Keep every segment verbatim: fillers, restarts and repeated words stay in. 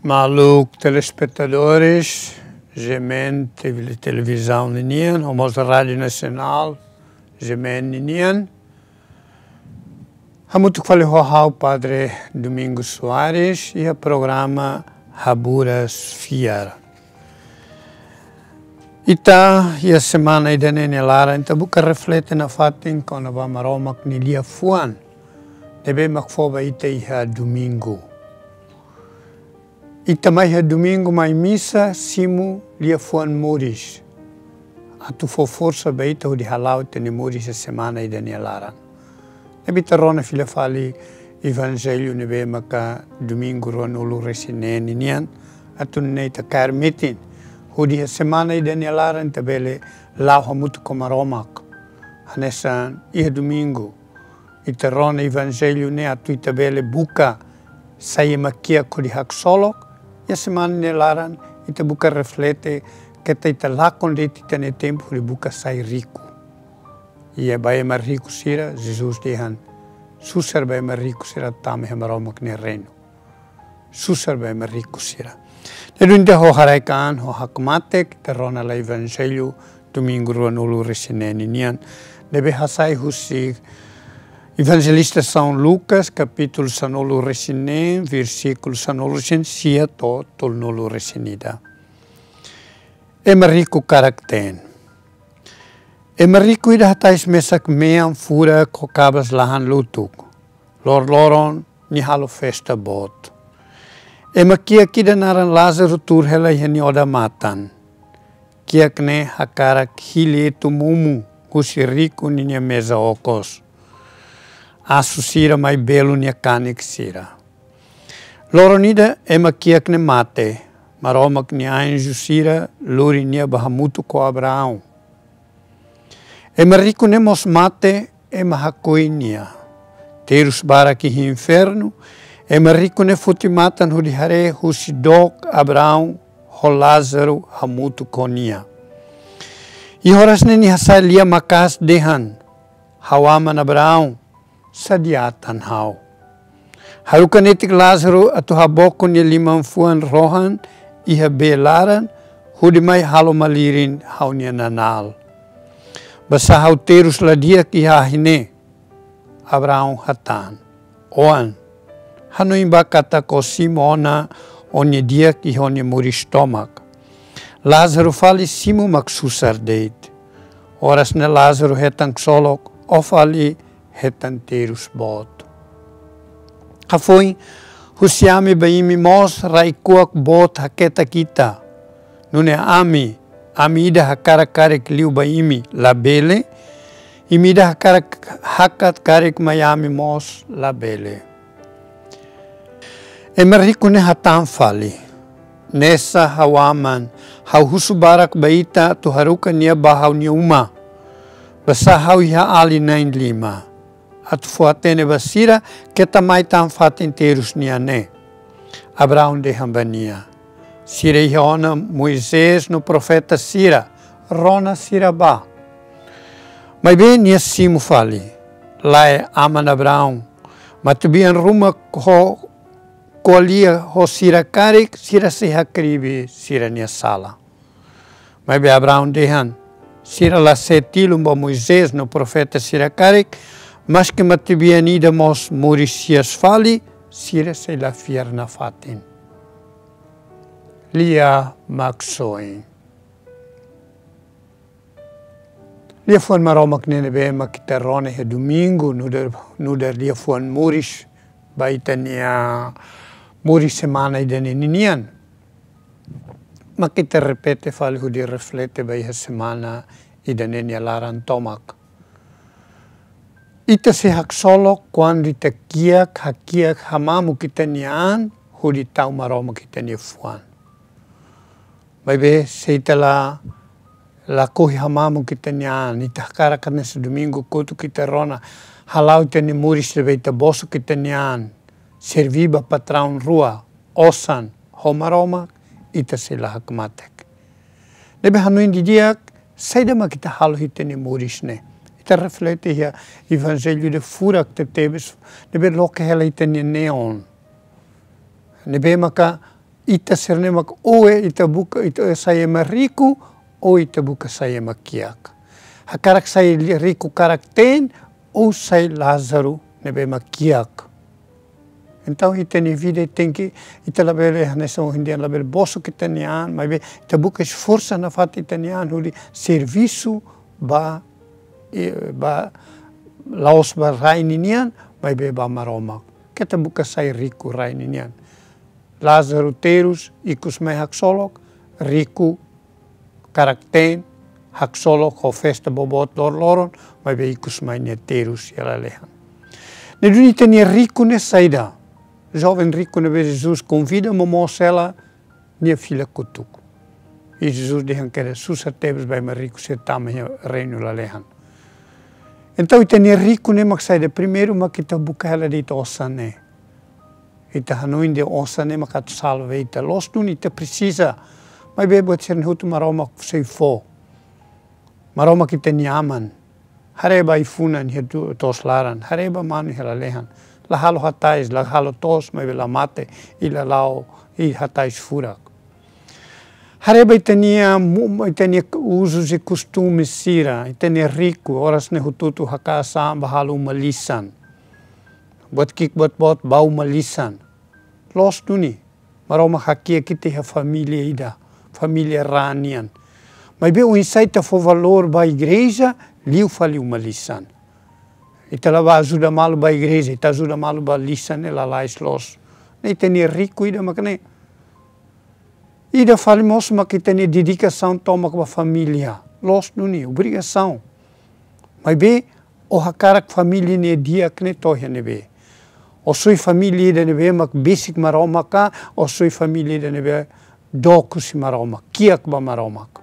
Maluk telespetadores, G M N T V, televizaun ninian, no mós Rádiu Nasionál, G M N ninian. Hamutuk fali ho ha'u Padre Domingos Soares, iha programa Haburas Fiar. Ita, iha semana ida-ne'e nia laran, ita buka reflete nafatin kona-ba Maromak nia liafuan ne'ebé mak fó ba ita iha domingu. Ita mai iha domingu mai misa, simu liafuan moris atu fó forsa ba ita hodi hala'o ita-nia moris iha semana ida-ne'e nia laran. Ne'ebé ita rona fila fali Evanjellu ne'ebé maka domingu ruanulu-resin-neen ninian, atu nune'e ita kaer metin hodi iha semana ida-ne'e nia laran ita bele la'o hamutuk ho Maromak. Hanesan iha domingu ita rona Evanjellu ne'e atu ita bele buka sai ema kiak hodi haksolok, iha semana nia laran ita buka reflete keta ita lakon de'it ita-nia tempu hodi buka sai riku. Iha ba ema riku sira, Jesus dehan, susar ba ema riku sira tama iha Maromak nia reinu. Susar ba ema riku sira. Ne'e duni ita ho haraik-an, ho hakmatek, ita rona lai Evanjellu domingu ruanulu-resin-neen ninian, ne'ebé hasai husi Evanjelista São Lucas, kapítulu sanulu-resin-neen, versíkulu sanulu-resin-sia to'o tolunulu-resin-ida. Ema riku karak-teen. Ema riku ida hatais mesak mean furak ho kabas lahan lutuk. Loroloron nia halo festa boot. Ema kiak ida naran Lázaro tuur hela iha nia odamatan. Kiak ne'e hakarak hili etu mumu husi riku ninia meza okos. Asu sira mai belu nia kanek sira. Loron ida ema kiak ne'e mate, Maromak nia anju sira lori nia ba hamutuk ho Abraão. Ema riku ne'e mós mate, ema hakoi nia. Terus barak iha infernu, ema riku ne'e foti matan hodi haree husi dook Abraão ho Lázaro hamutuk ho nia. Iha oras ne'e nia hasai lia maka'as dehan: Ha'u aman Abraão, sadia tan ha'u. Haruka netik Lázaro atu haboko nia liman-fuan rohan iha bee laran, hodi mai halo malirin ha'u-nia nanál. Basá ha'u terus la di'ak iha ahi ne'e. Abraão hatán: Oan, hanoin bá katak ó simu ona ó-nia di'ak iha ó-nia moris tomak. Lázaro fali simu mak susar de'it. Oras ne'e Lázaro hetan ksolok, ó fali hetan terus boot. Hafoin, husi ami ba imi mós rai-kuak boot haketak ita. Nune'e ami, ami ida hakarak karik liu ba imi, labele. Imi ida hakarak hakat karik mai ami mós, labele. Ema riku ne'e hatán fali: Ne'esa, ha'u aman, ha'u husu barak ba ita atu haruka nia bá ha'u-nia uma. Basá ha'u iha alin na'in-lima. Atu fó-hatene ba sira, keta mai tan fatin terus nia ne'e. Abraão dehan ba nia: Sira iha ona Moisés no profeta sira, rona sira bá. Maibé nia simu fali: Lae, aman Abraão, matebian ruma ho ko'alia ho sira karik, sira sei hakribi sira-nia sala. Maibé Abraão dehan: Sira la see tilun ba Moisés no profeta sira karik, maski matebian ida mós moris hi'as fali, sira sei la fiar nafatin. Lia Maksoin. Liafuan Maromak ne'ebé mak ita rona iha domingu, nu'udar, nu'udar liafuan moris ba ita-nia moris semana ida-ne'e ninian. Mak ita repete fali hodi reflete ba iha semana ida-ne'e nia laran tomak. Ita sei haksolok kuandu ita kiak, hakiak, hamamuk ita-nia an hodi tau Maromak ita-nia fuan. Maibé se ita la lakohi hamamuk ita-nia an, ita hakarak hanesan domingu kotuk ita rona, hala'o ita-nia moris ne'ebé ita bosok ita-nia an, serví ba patraun rua, osan, ho Maromak, ita sei la hakmatek. Ne'ebé hanoin didi'ak, saida mak ita halo iha ita-nia moris ne'e. Ita reflete iha Evanjellu ida furak tebetebes, ne'ebé loke hela ita-nia neon. Ne'ebé maka ita sira-ne'e mak ou ita buka, ita sai ema riku, ou ita buka sai ema kiak. Hakarak sai li-, riku karak-teen, ou sai Lázaro ne'ebé mak kiak. Entaun, ita-nia vida tenke, ita labele, hanesan ohin dehan labele bosok ita-nia an, maibé ita buka esforsu nafatin ita-nia an, hodi servisu ba, eh, ba, la'ós ba rai ninian, maibé ba Maromak. Keta buka sai riku rai ninian. Lázaro terus, ikus mai haksolok, riku karak-teen, haksolok ho festa boboot loroloron, maibé ikus mai nia terus iha lalehan. Ne'e duni ita-nia riku ne'e saida? Joven riku ne'ebé Jesus konvida momoos hela, nia fila kotuk. I Jesus dehan katak susar tebes ba ema riku sira tama iha reinu lalehan. Entaun ita-nia riku ne'e mak saida? Primeiru mak ita buka hela de'it osan ne'e. Ita hanoin dehan osan ne'e mak atu salva ita. Loos duni, ita presiza. Maibé buat sira-ne'e hotu Maromak sei fó. Maromak ita-nia Aman. Haree ba ai-funan iha tu-, to'os laran. Haree ba manu iha lalehan. La halo hatais, la halo toos, maibé la mate, i la la'o, i hatais furak. Haree ba ita-nia mu-, ita-nia uzus i kostumes sira, ita-nia riku, oras ne'e hotu-hotu hakaas an ba halo uma lisan. Buat ki'ik buat boot ba uma lisan. Loos duni, Maromak hakiak ita iha família ida, família raan nian. Maibé oinsá ita fó valór ba igreja, liu fali uma lisan. Ita la bá ajuda malu ba igreja, ita ajuda malu ba lisan ne'e lalais loos. Ne'e ita-nia riku ida mak ne'e. Ida fali mós mak ita-nia dedikasaun tomak ba família. Loos duni, obrigasaun. Maibé, ó hakarak família ne'e di'ak ne'e to'o iha ne'ebé? Ó soi família ida ne'ebé mak besik Maromak ka, ó soi família ida ne'ebé dook husi Maromak, kiak ba Maromak?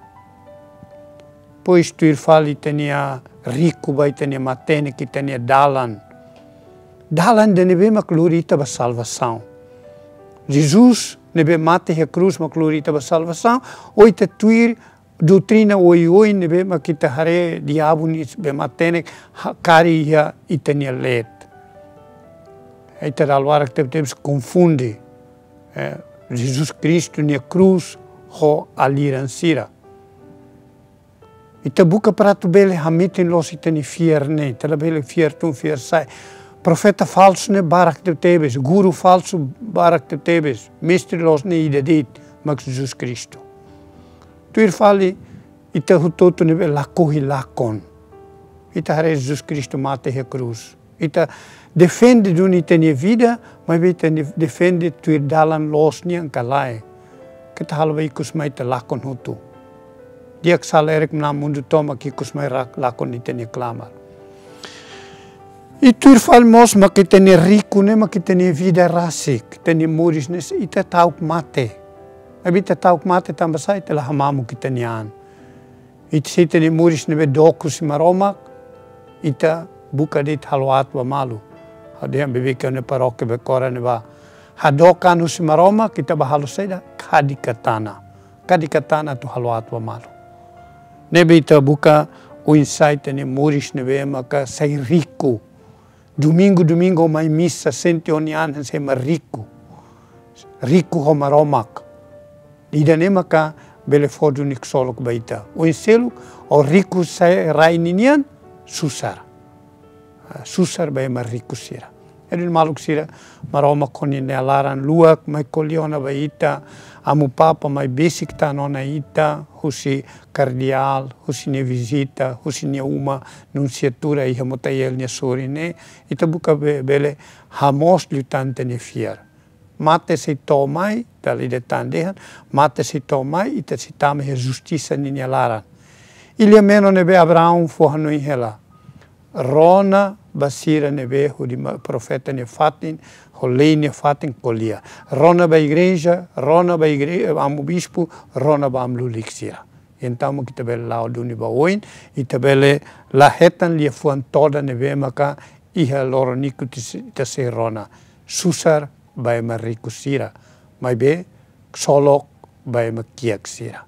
Depois tuir fali ita-nia riku ba ita-nia matenek, ita-nia dalan. Dalan ida ne'ebé mak lori ita ba salvasaun. Jesus ne'ebé mate iha krús mak lori ita ba salvasaun, ou ita tuir doutrina oioin ne'ebé mak ita haree diabu nia be matenek ha-, kari iha ita-nia leet. Ita dala barak tebetebes konfunde, eh, Jesus Kristu nia krús ho aliran sira. Ita buka para atu bele hametin loos ita-nia fiar ne'e, ita labele fiar tun fiar sa'e. Profeta falsu ne'e barak tebetebes, guru falsu barak tebetebes, mestre loos ne'e ida de'it, mak Jesus Kristu. Tuir fali, ita hotu-hotu ne'ebé lakohi lakon. Ita haree Jesus Kristu mate iha krús. Ita defende duni ita-nia vida, maibé ita def-, defende tuir dalan loos nian ka lae. Keta halo ba ikus mai ita lakon hotu. Di'ak sala erek mna mundu tomak ikus mai rak-, lakon ita-nia klamar. I tuir fali mós mak ita-nia riku ne'e mak ita-nia vida rasik, ita-nia moris ne'e ita ta'uk mate. Maibé ita ta'uk mate tanba sá? Ita la hamamuk ita-nia an. Ita, se ita-nia moris ne'ebé dook husi Maromak, ita buka de'it halo aat ba malu. Ha'u dehan beibeik iha ne'e parókia Becora ne'ebá. Hadook an husi Maromak, ita bá halo saida? Kadi katana. Kadi katana atu halo aat ba malu. Ne'ebé ita buka oinsá ita-nia moris ne'ebé maka sai riku. Domingu, domingu mai misa, sente ó-nia an hanesan ema riku. Riku ho Maromak. Ida-ne'e maka bele fó duni ksolok ba ita. Oin seluk, ó riku sai rai ninian, susar. Ah, susar ba ema riku sira. Jadi maluk sira, Maromak ho nia laran luak mai ko'alia ona ba ita, Amu Papa mai besik tan ona ita, husi kardeál, husi nia vizita, husi nia uma, nunsiatura iha Motael nia sorin ne'e, ita buka be-, bele hamoos liután ita-nia fiar. Mate sei to'o mai, dala ida tan dehan, mate sei to'o mai, ita sei tama iha justisa ninia laran. Iha lia menon ne'ebé Abraão fó hanoin hela. Rona ba sira ne'ebé hodi ma-, profeta nia fatin, ho lei nia fatin ko'alia. Rona ba igreja, rona ba igre-, amu bispu, rona ba amu lulik sira. Entaun mak ita bele la'o duni ba oin, ita bele la hetan liafuan todan ne'ebé maka iha loron ikus ita sei rona. Susar ba ema riku sira, maibé ksolok ba ema kiak sira.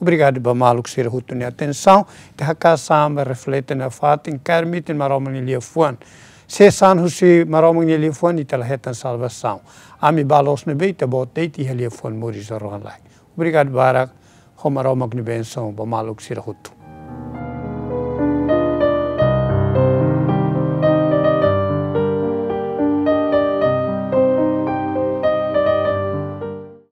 Obrigadu ba maluk sira hotu nia atensaun. Ita hakaas an ba reflete nafatin, kaer metin Maromak nia liafuan. Se sa'e husi Maromak nia liafuan, ita la hetan salvasaun. Ami ba loos ne'ebé, ita-boot de'it iha liafuan moris rohan-laek. Obrigadu barak, ho Maromak nia bensaun ba maluk sira hotu.